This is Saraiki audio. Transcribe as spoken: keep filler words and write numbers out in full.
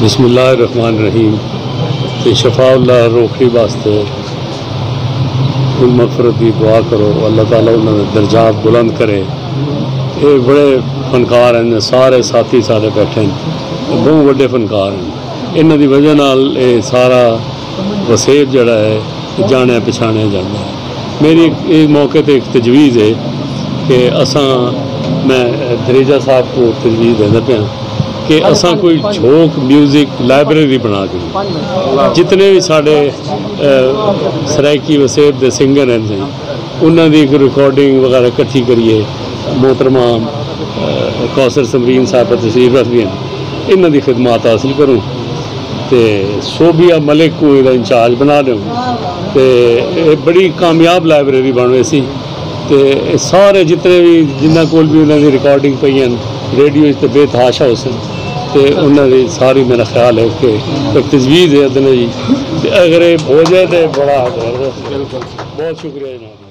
بسم اللہ الرحمن الرحیم۔ تے شفاء اللہ روکھڑی واسطے کوئی مغفرت دی دعا کرو، اللہ تعالیٰ انہاں دے درجات بلند کرے۔ اے بڑے فنکار ہیں، سارے ساتھی سارے بیٹھے ہیں، بہت وڈے فنکار ہیں۔ انہاں دی وجہ نال اے سارا وسیب جڑا ہے، جانیا پچھانیا جاندا ہے۔ میری ایک، ایک موقع تے ایک تجویز ہے کہ اساں، میں دھریجہ صاحب کو تجویز دیندا پیاں کہ اساں کوئی جھوک میوزک لائبریری بنا کے جتنے بھی ساڈے، اے، سرائیکی وسیب دے سنگر ہیں جی، انہاں دی ایک ریکارڈنگ وغیرہ اکٹھی کریے۔ محترمہ، اے، کوثر سمرین صاحبہ تشریف رکھدی ہیں، انہاں دی خدمات حاصل کروں۔ تے صوبیہ ملک کوں ایہدا انچارج بنا ݙیوں۔ تے اے بڑی کامیاب لائبریری بݨ ویسی۔ تے اے سارے جتنے وی، جنہاں کول وی انہاں دی ریکارڈنگ پئی ہن، ریڈیو اچ تے بے تحاشا ہوسن۔ تے انہاں دی ساری، میرا خیال ہے کہ ایک تجویز ہے ادن جی، تے اگر اے ہو جائے تے بڑا زبردست ہے۔ بہت شکریہ جناب۔